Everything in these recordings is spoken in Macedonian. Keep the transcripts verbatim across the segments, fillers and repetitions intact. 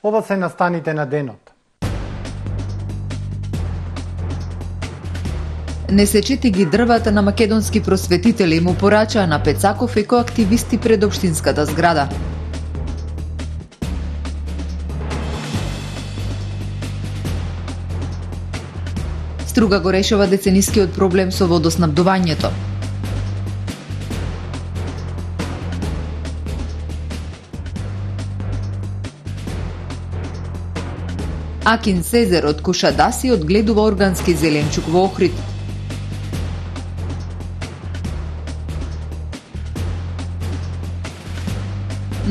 Ова се настаните на денот. Не сечете ги дрвата на македонски просветители, му порачаа на Пецаков екоактивисти пред општинската зграда. Струга го решава деценискиот проблем со водоснабдувањето. Акин Сезер од Кушадаси одгледува органски зеленчук во Охрид.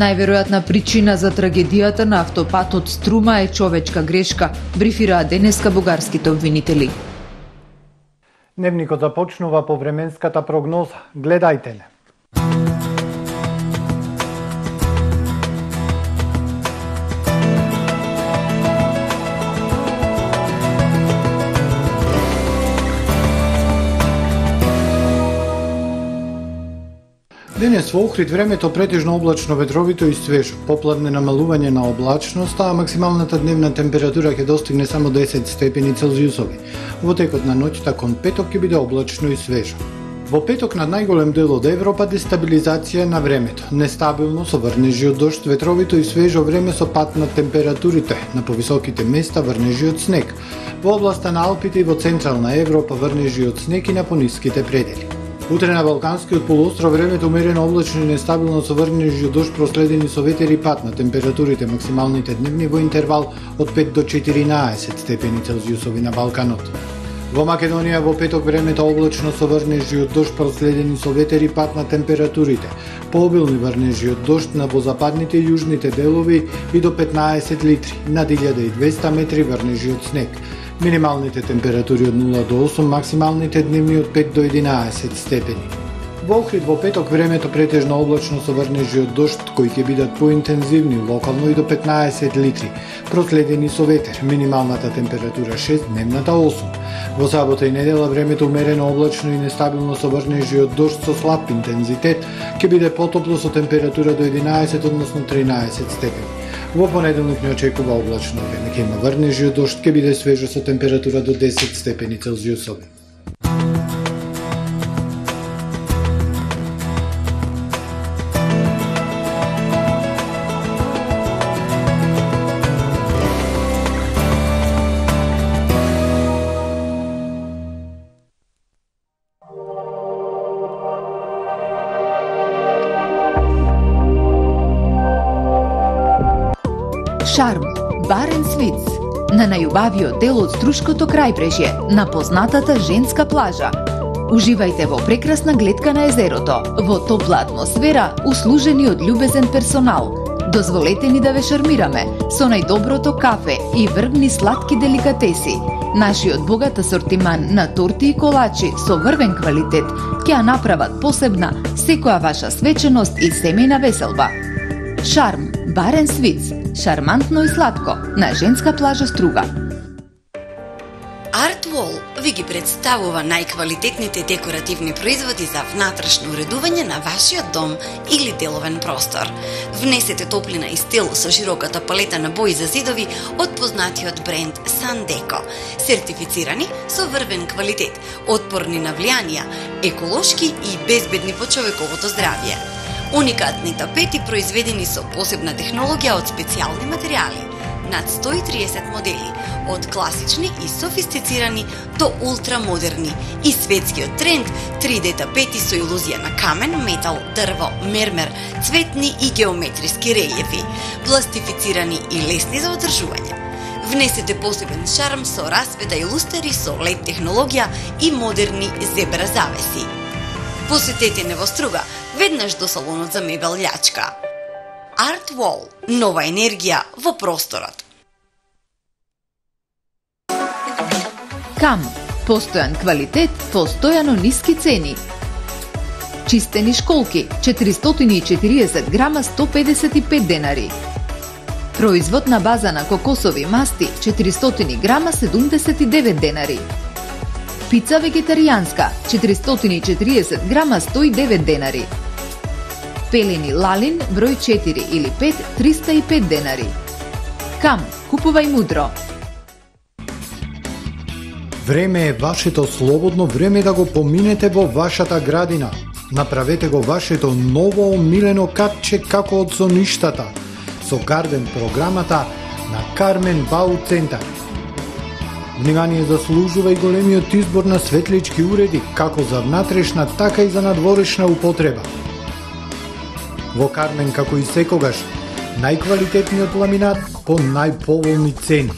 Најверојатна причина за трагедијата на автопатот Струма е човечка грешка, брифираа денеска бугарските обвинители. Дневникот започнува по временската прогноза. Гледајте не. Денес во Охрид времето претежно облачно, ветровито и свежо. Попладне намалување на облачноста, а максималната дневна температура ќе достигне само десет степени Целзиусови. Во текот на ноќта кон петок ќе биде облачно и свежо. Во петок над најголем дел од Европа дестабилизација на времето. Нестабилно со врнежи од дожд, ветровито и свежо време со пат на температурите. На повисоките места врнежи од снег. Во областа на Алпите и во централна Европа врнежи од снег и на пониските предели. Утре на Балканскиот полуостров времето умерено облачно и нестабилно со врнежи од дожд проследени со ветер и пат на температурите максималните дневни во интервал од пет до четиринаесет степени Целзиусови на Балканот. Во Македонија во петок времето облачно со врнежи од дожд проследени со ветер и пат на температурите. Пообилни врнежи од дожд на во западните и јужните делови и до петнаесет литри, над илјада и двесте метри врнежи од снег. Минималните температури од нула до осум, максималните дневни од пет до единаесет степени. Во Охрид во петок времето претежно облачно со врнежи од дожд кои ќе бидат поинтензивни локално и до петнаесет литри, проследени со ветер. Минималната температура шест, дневната осум. Во сабота и недела времето умерено облачно и нестабилно со врнежи од дожд со слаб интензитет ќе биде потопло со температура до единаесет, односно тринаесет степени. Во понеделник не очекува облачно време, ќе има врнежи од дожд, ќе биде свежо со температура до десет степени Целзиусови. Шарм, Баренц Виц, на најубавиот дел од Струшкото крајбрежје, на познатата женска плажа. Уживајте во прекрасна гледка на езерото, во топла атмосфера, услужени од љубезен персонал. Дозволете ни да ве шармираме со најдоброто кафе и врвни сладки деликатеси. Нашиот богат асортиман на торти и колачи со врвен квалитет ќе ја направат посебна секоја ваша свеченост и семејна веселба. Шарм, Баренц Виц, шармантно и сладко, на женска плажа Струга. Артвол ви ги представува најквалитетните декоративни производи за внатрешно уредување на вашиот дом или деловен простор. Внесете топлина и стил со широката палета на бои за зидови од познатиот бренд Сандеко, сертифицирани со врвен квалитет, отпорни на влијанија, еколошки и безбедни по човековото здравје. Уникатни тапети произведени со посебна технологија од специјални материјали, над сто и триесет модели, од класични и софистицирани до ултрамодерни, и светскиот тренд три де тапети со илузија на камен, метал, дрво, мермер, цветни и геометриски релјефи, пластифицирани и лесни за одржување. Внесете посебен шарм со расвета и лустери со лед технологија и модерни зебра завеси. Посетете не во Струга, веднаш до салонот за мебел Љачка. Артвол, нова енергија во просторот. Кам, постојан квалитет, постојано ниски цени. Чистени школки, четиристотини и четириесет грама, сто педесет и пет денари. Производ на база на кокосови масти, четиристотини грама, седумдесет и девет денари. Пица вегетаријанска, четиристотини и четириесет грама, сто и девет денари. Пелени лалин, број четири или пет, триста и пет денари. Кам, купувај мудро. Време е вашето слободно време да го поминете во вашата градина. Направете го вашето ново омилено капче како од соништата со Гарден програмата на Кармен Бау Центар. Внимание заслужува и големиот избор на светлички уреди, како за внатрешна, така и за надворешна употреба. Во Кармен, како и секогаш, најквалитетниот ламинат по најповолни цени.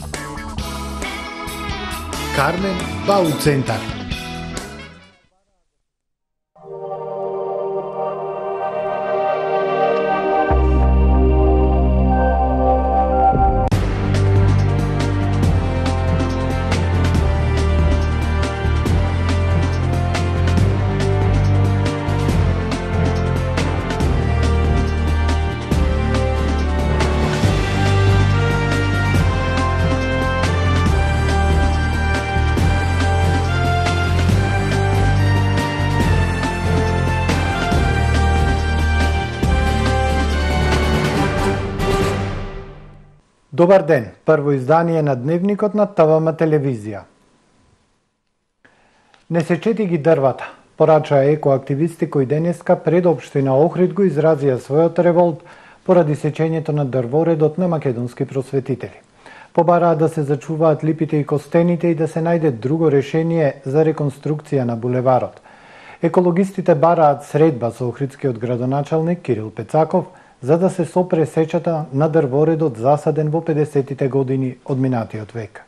Кармен Бау Центар. Добар ден, прво издание на Дневникот на ТВМ телевизија. Не сечети ги дрвата, порачаа екоактивисти кои денеска пред општина Охрид го изразија својот револт поради сечењето на дрворедот на македонски просветители. Побараа да се зачуваат липите и костените и да се најде друго решение за реконструкција на булеварот. Екологистите бараат средба со охридскиот градоначалник Кирил Пецаков за да се сопре сечата на дрворедот засаден во педесетите години од минатиот век.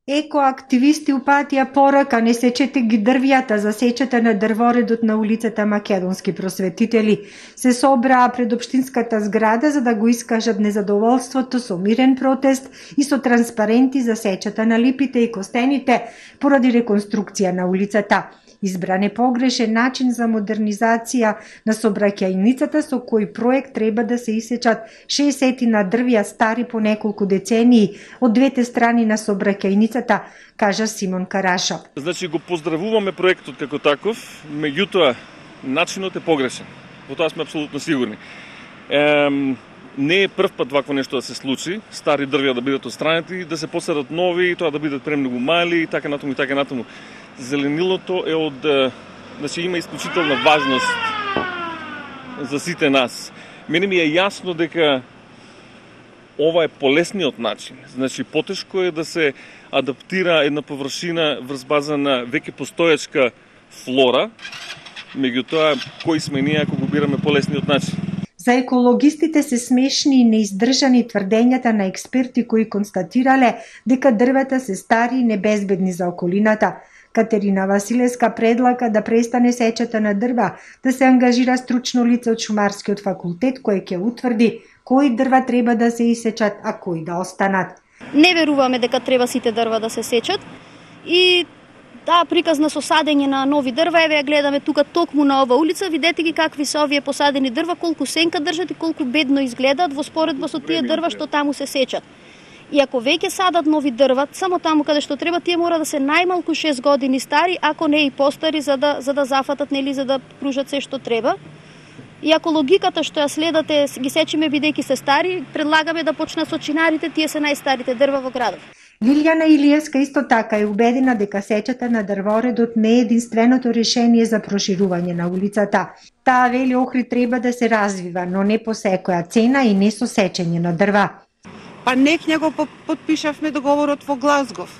Екоактивисти упатија порака не сечете ги дрвјата за сечата на дрворедот на улицата Македонски просветители. Се собраа пред општинската зграда за да го искажат незадоволството со мирен протест и со транспаренти за сечата на липите и костените поради реконструкција на улицата. Избран е погрешен начин за модернизација на сообраќајницата со кој проект треба да се исечат шеесет на дрвја стари по неколку децении од двете страни на сообраќајницата, кажа Симон Карашов. Значи го поздравуваме проектот како таков, меѓутоа начинот е погрешен. Во тоа сме апсолутно сигурни. Ем, не е прв пат вакво нешто да се случи, стари дрвја да бидат отстранети, да се посадат нови, и тоа да бидат премногу мали и така натаму и така натаму. Зеленилото е од, значи има исклучителна важност за сите нас. Мене ми е јасно дека ова е полесниот начин. Значи потешко е да се адаптира една површина врз база на веќе постоечка флора, меѓутоа кои сме ние ако го бираме полесниот начин. За екологистите се смешни и неиздржани тврдењата на експерти кои констатирале дека дрвета се стари и небезбедни за околината. Катерина Василевска предлага да престане сечата на дрва, да се ангажира стручно лице од Шумарскиот факултет кој ќе утврди кои дрва треба да се исечат, а кои да останат. Не веруваме дека треба сите дрва да се сечат и таа приказна со садење на нови дрва, еве ја гледаме тука токму на ова улица, видете ги какви се овие посадени дрва, колку сенка држат и колку бедно изгледаат во споредба со тие дрва што таму се сечат. И ако веќе садат нови дрва, само таму каде што треба, тие мора да се најмалку шест години стари, ако не и постари, за да за да зафатат, нели, за да пружат се што треба. И ако логиката што ја следате ги сечиме бидејќи се стари, предлагаме да почнат со чинарите, тие се најстарите дрва во градот. Лилјана Илиевска исто така е убедена дека сечата на дрворедот не е единственото решение за проширување на улицата. Таа вели Охрид треба да се развива, но не по секоја цена и не со сечење на дрва. Па некња го подпишавме договорот во Глазгов.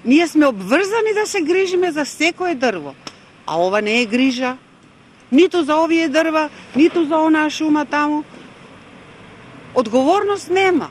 Ние сме обврзани да се грижиме за секое дрво, а ова не е грижа. Ниту за овие дрва, ниту за онаа шума таму. Одговорност нема.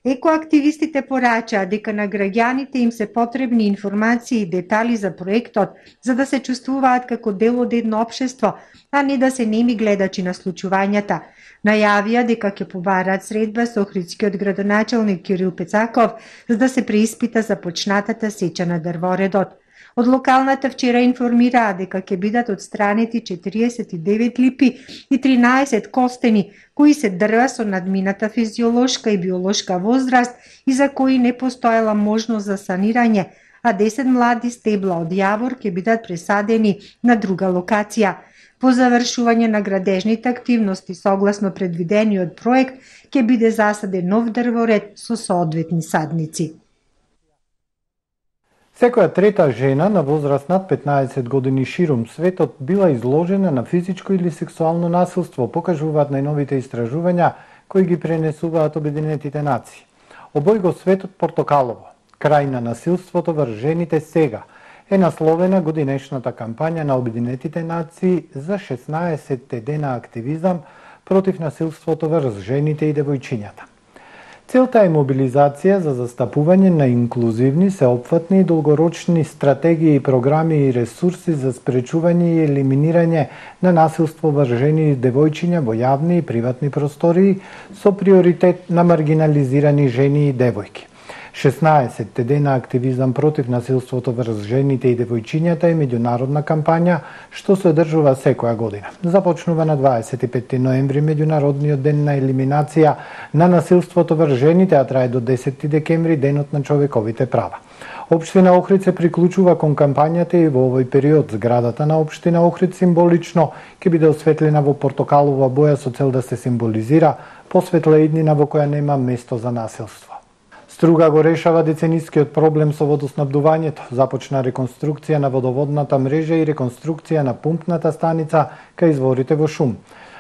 Екоактивистите порачаа дека на граѓаните им се потребни информации и детали за проектот, за да се чувствуваат како дел од едно општество, а не да се неми гледачи на случувањата. Најавија дека ќе побараат средба со охридскиот градоначалник Кирил Пецаков за да се преиспита започнатата сеча на дрворедот. Од локалната вчера информираа дека ќе бидат отстранети четириесет и девет липи и тринаесет костени, кои се дрва со надмината физиолошка и биолошка возраст и за кои не постоела можност за санирање, а десет млади стебла од јавор ќе бидат пресадени на друга локација. По завршување на градежните активности согласно предвидениот проект ќе биде засаден нов дрворед со соодветни садници. Секоја трета жена на возраст над петнаесет години ширум светот била изложена на физичко или сексуално насилство, покажуваат најновите истражувања кои ги пренесуваат Обединетите нации. Обој го светот портокалово. Крај на насилството врз жените сега е насловена годинешната кампања на Обединетите нации за шеснаесетте дена активизам против насилството врз жените и девојчињата. Целта е мобилизација за застапување на инклузивни, сеопфатни и долгорочни стратегии и програми и ресурси за спречување и елиминирање на насилство врз жени и девојчиња во јавни и приватни простории со приоритет на маргинализирани жени и девојки. шеснаесетте дена активизам против насилството врз жените и девојчињата е меѓународна кампања што се одржува секоја година. Започнува на дваесет и петти ноември, меѓународниот ден на елиминација на насилството врз жените, а трае до десетти декември, денот на човековите права. Општина Охрид се приклучува кон кампањата и во овој период зградата на Општина Охрид символично ќе биде осветлена во портокалова боја со цел да се символизира посветла иднина во која нема место за насилство. Струга го решава деценискиот проблем со водоснабдувањето. Започна реконструкција на водоводната мрежа и реконструкција на пумпната станица кај изворите во Шум.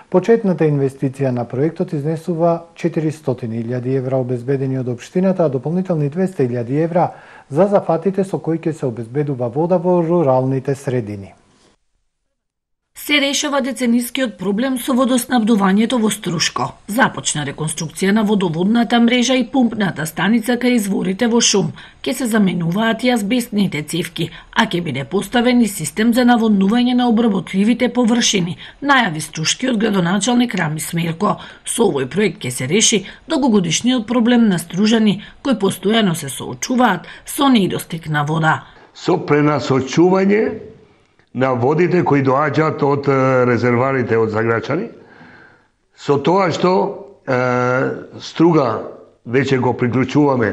Почетната инвестиција на проектот изнесува четиристотини илјади евра обезбедени од општината, а дополнителни двесте илјади евра за зафатите со кои ќе се обезбедува вода во руралните средини. Се решава деценискиот проблем со водоснабдувањето во Струшко. Започна реконструкција на водоводната мрежа и пумпната станица кај изворите во Шум. Ке се заменуваат и азбестните цевки, а ќе биде поставен и систем за наводнување на обработливите површини, најави струшкиот градоначалник Рами Смерко. Со овој проект ке се реши долгогодишниот проблем на стружани кои постојано се соочуваат со недостиг на вода. Со пренасочување на водите кои доаѓаат од резерварите од Заграчани, со тоа што е, Струга веќе го приклучуваме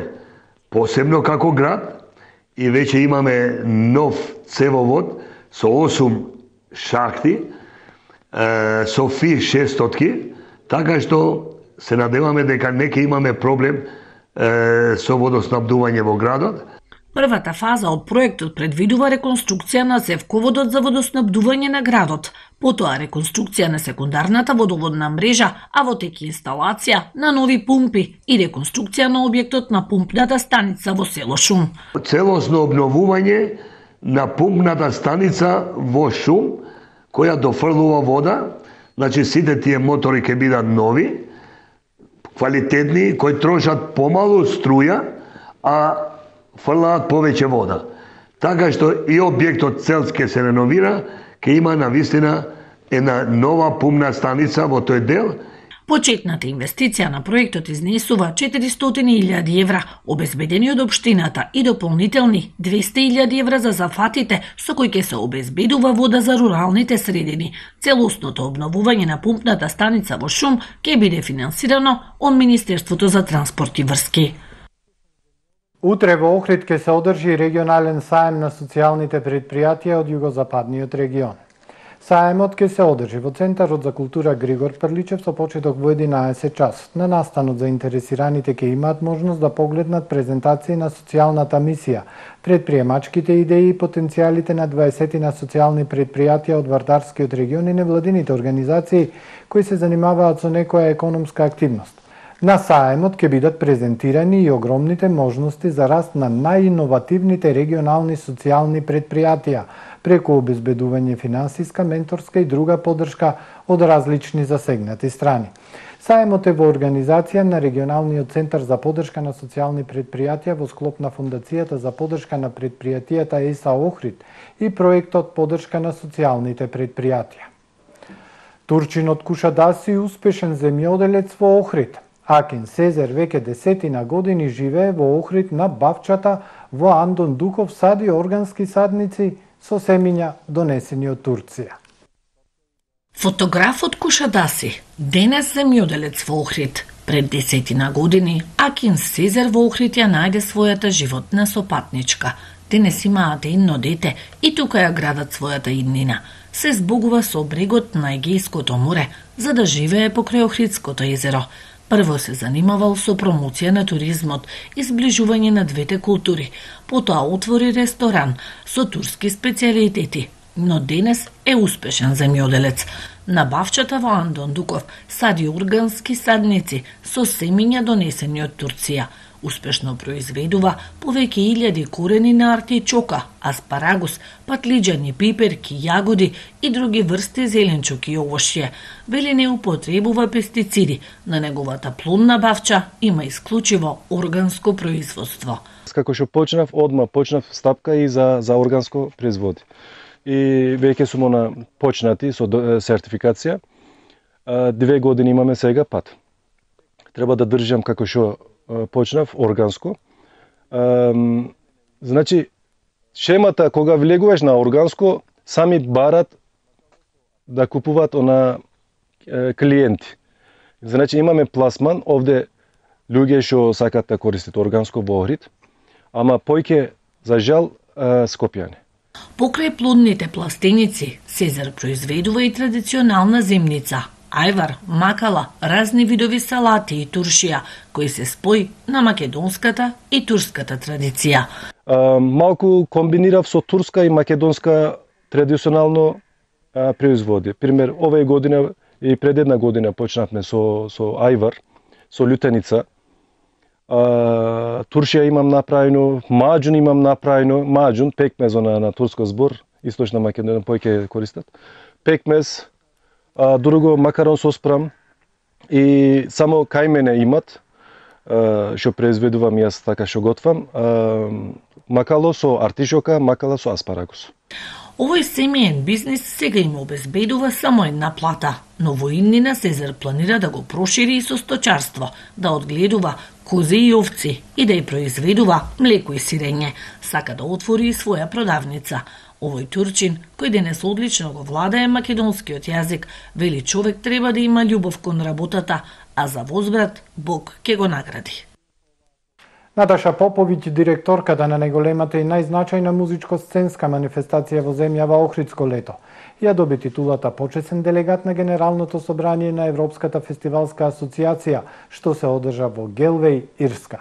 посебно како град и веќе имаме нов цевовод со осум шахти, е, со ФИ шестстотки, така што се надеваме дека не ќе имаме проблем е, со водоснабдување во градот. Првата фаза од проектот предвидува реконструкција на цевководот за водоснабдување на градот, потоа реконструкција на секундарната водоводна мрежа, а во тек инсталација на нови пумпи и реконструкција на објектот на пумпната станица во село Шум. Целосно обновување на пумпната станица во Шум, која дофрлува вода, значи сите тие мотори ќе бидат нови, квалитетни, кои трошат помалу струја, а фрлаат повеќе вода. Така што и објектот цел ќе се реновира, ќе има навистина една нова пумна станица во тој дел. Почетната инвестиција на проектот изнесува четиристотини илјади евра, обезбедени од општината и дополнителни двесте илјади евра за зафатите со кои ќе се обезбедува вода за руралните средини. Целосното обновување на пумпната станица во Шум ќе биде финансирано од Министерството за транспорт и врски. Утре во Охрид ќе се одржи регионален саем на социјалните предпријатија од југозападниот регион. Саемот ќе се одржи во Центарот за култура Григор Прличев со почеток во единаесет часот. На настанот заинтересираните ќе имаат можност да погледнат презентации на социјалната мисија, предприемачките идеи и потенцијалите на дваесетина социјални предпријатија од Вардарскиот регион и невладините организации кои се занимаваат со некоја економска активност. На саемот ќе бидат презентирани и огромните можности за раст на најиновативните регионални социјални предпријатија преку обезбедување финансиска, менторска и друга поддршка од различни засегнати страни. Саемот е во организација на Регионалниот центар за поддршка на социјални предпријатија во склоп на Фондацијата за поддршка на предпријатијата ЕСА Охрид и проектот Поддршка на социјалните предпријатија. Турчинот Кушадаси успешен земјоделец во Охрид. Акин Сезер веќе десетина години живее во Охрид на Бавчата, во Андон Духов сади органски садници со семиња донесени од Турција. Фотографот Кушадаси, денес земјоделец во Охрид. Пред десетина години Акин Сезер во Охрид ја најде својата животна сопатничка. Денес имаат едно дете и тука ја градат својата иднина. се збогува со брегот на Егејското море, за да живее покрај Охридското езеро. Прво се занимавал со промоција на туризмот и сближување на двете култури, потоа отвори ресторан со турски специјалитети, но денес е успешен земјоделец. На бавчата во Андондуков сади органски садници со семиња донесени од Турција. Успешно произведува повеќе илјади корени на артичока, аспарагус, патлиџани, пиперки, јагоди и други врсти зеленчуки и овошје. Вели не употребува пестициди, на неговата плодна бавча има исклучиво органско производство. Како што почнав, одма почнав стапка и за, за органско производи. И веќе сум на почнати со сертификација. Две години имаме сега пат. Треба да држам како што почнав органско. Значи, шемата кога влегуваш на органско, сами барат да купуваат она клиенти. Значи, имаме пласман, овде луѓе што сакат да користат органско во Охрид, ама појќе, за жал, скопјани. Покрај плодните пластеници, Сезар произведува и традиционална зимница, ајвар, макала, разни видови салати и туршија, кои се спои на македонската и турската традиција. А, малку комбинирав со турска и македонска традиционално а, производи. Пример, овај година и пред една година почнавме со, со ајвар, со лютеница. А, туршија имам направено, маџун имам направено, маџун, пекмез на, на турско збор, источна Македонија појќе користат. Пекмез, а, друго макарон со спрам и само кај мене имат, а, што произведувам јас така што готвам, а, макало со артишока, макала со аспарагус. Овој семеен бизнис сега им обезбедува само една плата, но во иднина Сезар планира да го прошири и со сточарство, да одгледува кози и овци и да ја произведува млеко и сирење. Сака да отвори и своја продавница. Овој турчин, кој денес одлично го владае македонскиот јазик, вели човек треба да има љубов кон работата, а за возврат Бог ќе го награди. Наташа Поповиќ, директорката на најголемата и најзначајна музичко-сценска манифестација во земјава Охридско лето, ја доби титулата почесен делегат на Генералното собрание на Европската фестивалска асоциација, што се одржа во Гелвеј, Ирска.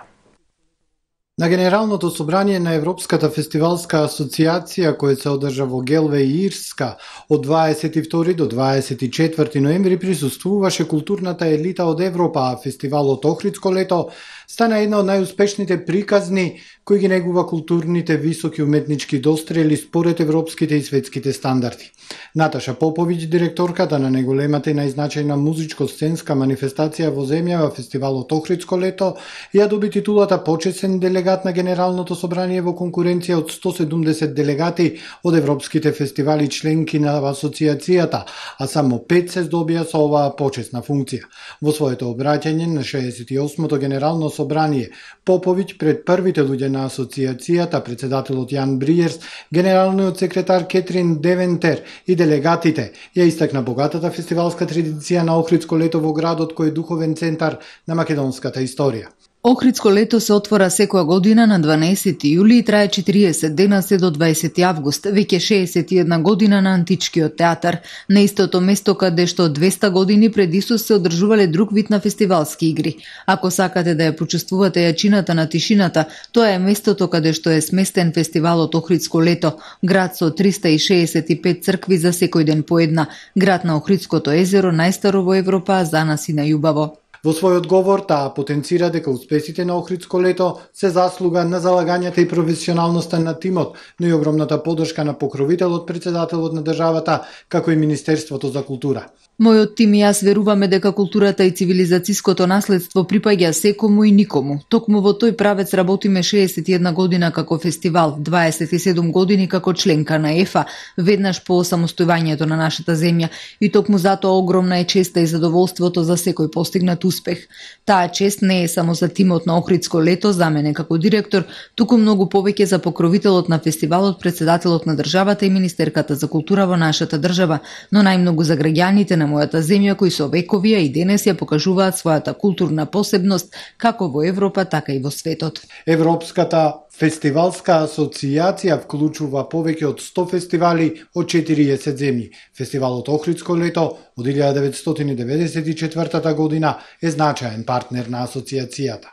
На Генералното собрание на Европската фестивалска асоциација, кој се одржа во Гелвеј, Ирска, од дваесет и втори до дваесет и четврти ноември присуствуваше културната елита од Европа, а фестивалот Охридско лето стана една од најуспешните приказни кои ги негува културните високи уметнички дострели според европските и светските стандарди. Наташа Поповиќ, директорката на најголемата и најзначајна музичко-сценска манифестација во земјава фестивалот Охридско лето, ја доби титулата почесен делегат на Генералното собрание во конкуренција од сто седумдесет делегати од европските фестивали членки на асоциацијата, а само пет се здобија со оваа почесна функција. Во своето обраќање на шеесет и осмото Генерално собрание, Поповиќ пред првите луѓе на асоциацијата, председателот Јан Бриерс, генералниот секретар Кетрин Девентер и делегатите, ја истакна богатата фестивалска традиција на Охридско лето во градот кој е духовен центар на македонската историја. Охридско лето се отвора секоја година на дванаесети јули и трае четириесет дена се до дваесети август, веќе шеесет и една година на Античкиот театар, на истото место каде што двеста години пред Исус се одржувале друг вид на фестивалски игри. Ако сакате да ја почувствувате јачината на тишината, тоа е местото каде што е сместен фестивалот Охридско лето, град со триста и шеесет и пет цркви за секој ден по една, град на Охридското езеро, најстаро во Европа, а за нас и најубаво. Во свој одговор, таа потенцира дека успесите на Охридско лето се заслуга на залагањата и професионалноста на тимот, но и огромната поддршка на покровителот, председателот на државата, како и Министерството за култура. Мојот тим и јас веруваме дека културата и цивилизацијското наследство припаѓа секому и никому. Токму во тој правец работиме шеесет и една година како фестивал, дваесет и седум години како членка на ЕФА, веднаш по самостојувањето на нашата земја, и токму затоа огромна е честа и задоволството за секој постигнат успех. Таа чест не е само за тимот на Охридско лето, за мене како директор, туку многу повеќе за покровителот на фестивалот, председателот на државата и министерката за култура во нашата држава, но најмногу за граѓаните на на мојата земја кои со векови и денес ја покажуваат својата културна посебност како во Европа, така и во светот. Европската фестивалска асоцијација вклучува повеќе од сто фестивали од четириесет земји. Фестивалот Охридско лето од илјада деветстотини деветдесет и четвртата година е значаен партнер на асоцијацијата.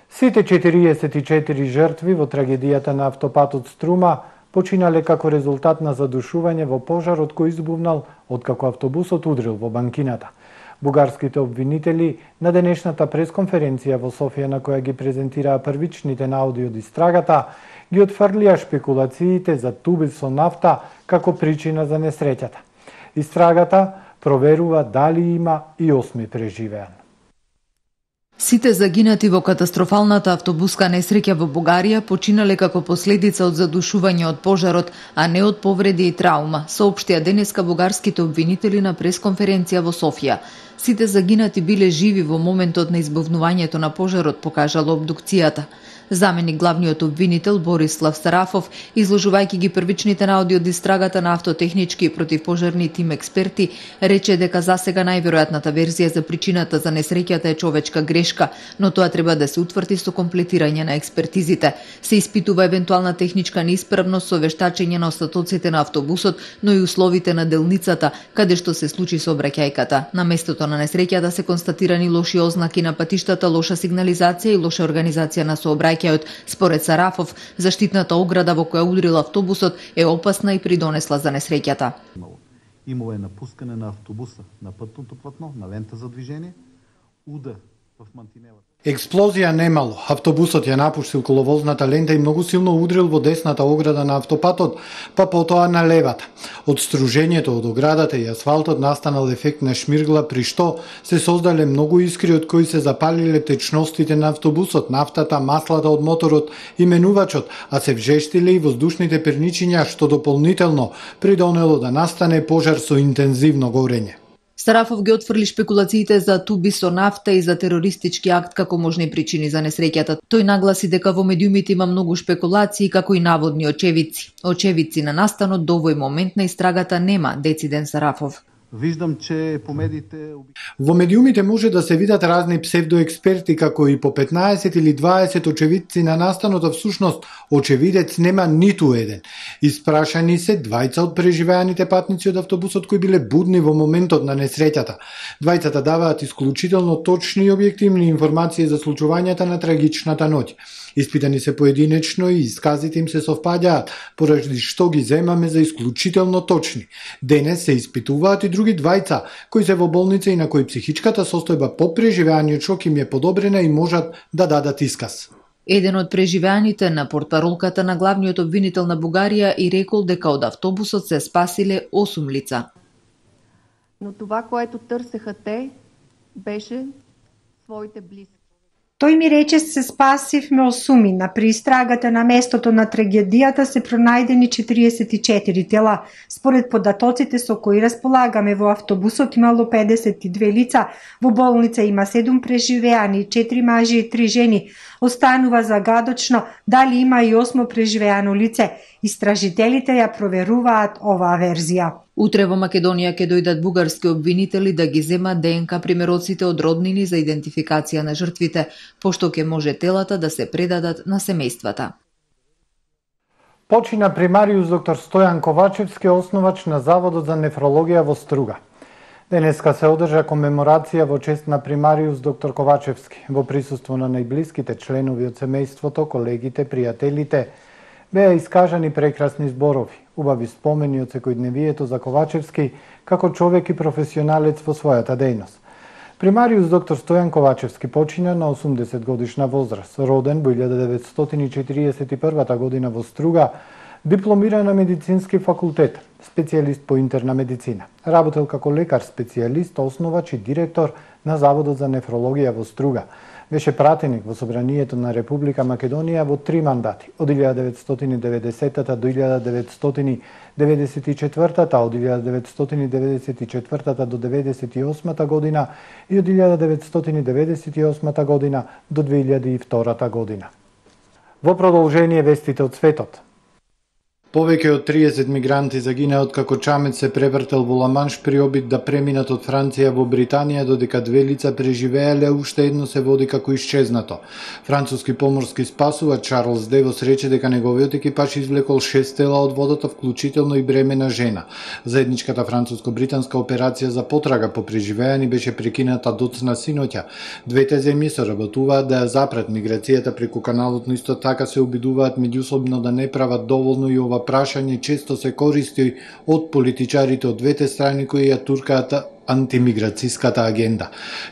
Сите четириесет и четири жртви во трагедијата на автопатот Струма починале како резултат на задушување во пожарот кој избувнал откако автобусот удрил во банкината. Бугарските обвинители на денешната пресконференција во Софија, на која ги презентираа првичните наоди од истрагата, ги отфрлија шпекулациите за туби со нафта како причина за несреќата. Истрагата проверува дали има и осми преживеан. Сите загинати во катастрофалната автобуска несреќа во Бугарија починале како последица од задушување од пожарот, а не од повреди и траума, соопштија денеска бугарските обвинители на пресконференција во Софија. Сите загинати биле живи во моментот на избавнувањето на пожарот, покажала обдукцијата. Заменик главниот обвинител Борислав Сарафов, изложувајќи ги првичните наоди од истрагата на автотехнички и противпожарни тим експерти, рече дека засега најверојатната верзија за причината за несреќата е човечка грешка, но тоа треба да се утврди со комплетирање на експертизите. Се испитува евентуална техничка неисправност со вештачење на остатоците на автобусот, но и условите на делницата, каде што се случи сообраќајката. На местото на несреќата се констатирани лоши ознаки на патиштата, лоша сигнализација и лоша организација на сообраќајката. Според Сарафов, заштитната ограда во која удрил автобусот е опасна и придонесла за несреќата. Имало е напускане на автобуса на пътното платно, на лента за движение, удар в мантинелата. Експлозија немало. Автобусот ја напуштил коловозната лента и многу силно удрил во десната ограда на автопатот, па потоа на левата. Од стружењето од оградата и асфалтот настанал ефект на шмиргла, при што се создале многу искри од кои се запалиле течностите на автобусот, нафтата, маслата од моторот и менувачот, а се вжештиле и воздушните перничиња, што дополнително придонело да настане пожар со интензивно горење. Сарафов ги отфрли шпекулациите за туби со нафта и за терористички акт како можни причини за несреќата. Тој нагласи дека во медиумите има многу шпекулации како и наводни очевидци. Очевидци на настанот до овој момент на истрагата нема, дециден Сарафов. Виждам, че по медиите... Во медиумите може да се видат разни псевдоексперти, како и по петнаесет или дваесет очевидци на настанот, а всушност очевидец нема ниту еден. Испрашани се двајца од преживеаните патници од автобусот кои биле будни во моментот на несреќата. Двајцата даваат исклучително точни и објективни информации за случувањата на трагичната ноќ. Испитани се поединечно и исказите им се совпаѓаат, поради што ги земаме за исклучително точни. Денес се испитуваат и други двајца, кои се во болница и на кои психичката состојба по преживеаниот шок им е подобрена и можат да дадат исказ. Еден од преживеаните на портпаролката на главниот обвинител на Бугарија и рекол дека од автобусот се спасиле осум лица. Но това, което търсеха те, беше своите близки. Тој ми рече се спасивме осумина. При истрагата на местото на трагедијата се пронајдени четириесет и четири тела. Според податоците со кои располагаме, во автобусот имало педесет и две лица, во болница има седум преживеани, четири мажи и три жени. Останува загадочно дали има и осмо преживеано лице. Истражителите ја проверуваат оваа верзија. Утре во Македонија ќе дојдат бугарски обвинители да ги земат ДНК примероците од роднини за идентификација на жртвите, пошто ќе може телата да се предадат на семејствата. Почина примариус доктор Стојан Ковачевски, основач на Заводот за нефрологија во Струга. Денеска се одржа комеморација во чест на примариус доктор Ковачевски, во присуство на најблиските членови од семејството, колегите, пријателите. Беа искажани прекрасни зборови, убави спомени од секојдневието за Ковачевски како човек и професионалец во својата дејност. Примариус доктор Стојан Ковачевски почина на осумдесет годишна возраст, роден во илјада деветстотини четириесет и прва година во Струга, дипломира на медицински факултет, специјалист по интерна медицина. Работел како лекар специјалист, основач и директор на Заводот за нефрологија во Струга. Беше пратеник во Собранието на Република Македонија во три мандати, од илјада деветстотини деветдесета до илјада деветстотини деветдесет и четврта, од илјада деветстотини деветдесет и четврта до деветдесет и осма година и од илјада деветстотини деветдесет и осма година до две илјади и втора година. Во продолжение вестите од светот. Повеќе од триесет мигранти загинаа откако чамет се превртел во Ламанш при обид да преминат од Франција во Британија, додека две лица преживеале, уште едно се води како исчезнато. Француски поморски спасувач Чарлс Девос рече дека неговиот екипаж извлекол шест тела од водата, вклучително и бремена жена. Заедничката француско-британска операција за потрага по преживеани беше прекината доцна синоќа. Двете земји соработуваат да ја запрат миграцијата преку каналот, но исто така се обидуваат меѓусобно да не прават доволно, и ова прашање често се користи од политичарите од двете страни кои ја туркаат антимиграциската агенда.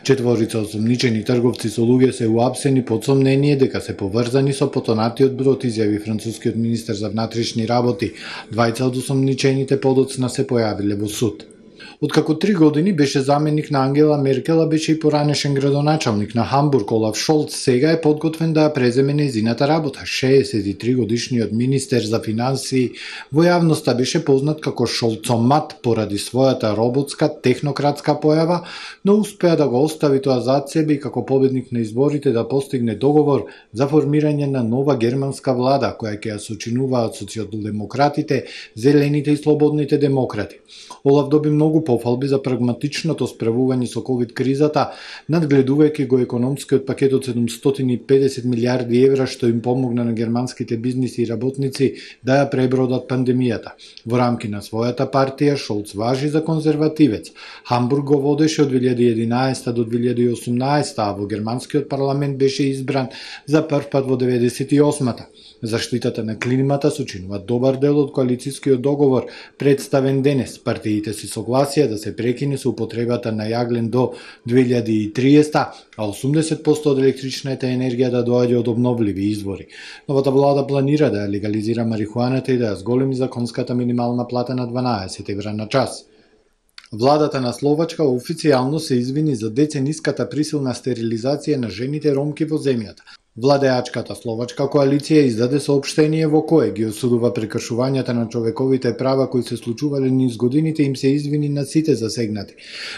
Четворица осомничени трговци со луѓе се уапсени под сомнение дека се поврзани со потонатиот брод, изјави францускиот министер за внатрешни работи. Двајца од осомничените подоцна се појавиле во суд. Откако три години беше заменик на Ангела Меркел, беше и поранешен градоначалник на Хамбург Олаф Шолц, сега е подготвен да ја преземе нејзината работа. шеесет и три годишниот министер за финансии во јавноста беше познат како Шолцомат поради својата роботска, технократска појава, но успеа да го остави тоа зад себе и како победник на изборите да постигне договор за формирање на нова германска влада, која ќе ја сочинуваат социјалдемократите, зелените и слободните демократи. Олаф доби многу пофалби за прагматичното справување со ковид кризата, надгледувајќи го економскиот пакет од седумстотини и педесет милиарди евра што им помогна на германските бизниси и работници да ја пребродат пандемијата. Во рамки на својата партија Шолц важи за конзервативец. Хамбург го водеше од две илјади и единаесета до две илјади и осумнаесета, а во германскиот парламент беше избран за прв пат во деветдесет и осмата. Заштитата на климата сочинува добар дел од коалицијскиот договор представен денес. Партиите се согласија да се прекине со употребата на јаглен до две илјади и триесета, а осумдесет проценти од електричната енергија да доаѓа од обновливи извори. Новата влада планира да ја легализира марихуаната и да ја зголеми законската минимална плата на дванаесет евра на час. Владата на Словачка официјално се извини за децениската присилна стерилизација на жените ромки во земјата. Владеачката Словачка коалиција издаде соопштение во кое ги осудува прекршувањата на човековите права кои се случувале низ годините, им се извини на сите засегнати.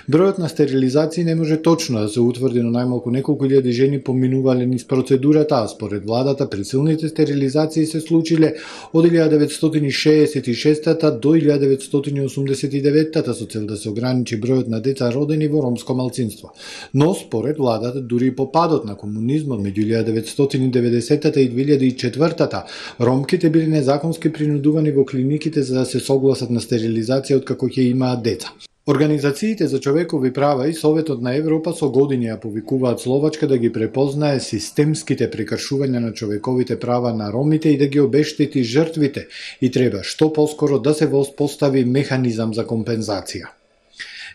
Бројот на стерилизации не може точно да се утврди, но најмалку неколку илјади жени поминувале низ процедурата, а според владата присилните стерилизации се случиле од илјада деветстотини шеесет и шеста до илјада деветстотини осумдесет и деветта со цел да се ограничи бројот на деца родени во ромско малцинство. Но според владата дури и по падот на комунизмот меѓу илјада деветстотини и деветдесетата и две илјади и четвртата, ромките били незаконски принудувани во клиниките за да се согласат на стерилизација откако ќе имаат деца. Организациите за човекови права и Советот на Европа со години ја повикуваат Словачка да ги препознае системските прекршувања на човековите права на ромите и да ги обештети жртвите, и треба што поскоро да се воспостави механизам за компензација.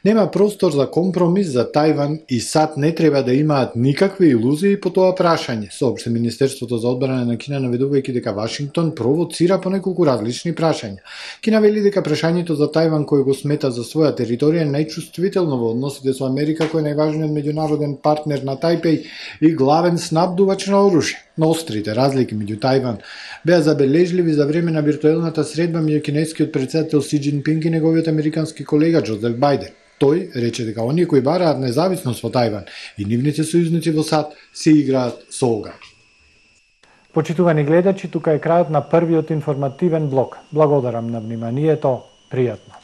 Нема простор за компромис за Тајван и САД не треба да имаат никакви илузии по тоа прашање, соопшти Министерството за одбрана на Кина, наведувајќи дека Вашингтон провоцира по неколку различни прашања. Кина вели дека прашањето за Тајван, кој го смета за своја територија, е најчувствително во односите со Америка, кој е најважниот меѓународен партнер на Тајпеј и главен снабдувач на оружје. Но острите разлики меѓу Тајван беа забележливи за време на виртуелната средба меѓу кинескиот претседател Си Џинпинг и неговиот американски колега Џозеф Бајден. Тој рече дека оние кои бараат независност во Тајван и нивните сојузници во САД се играат со оган. Почитувани гледачи, тука е крајот на првиот информативен блок. Благодарам на вниманието, пријатно.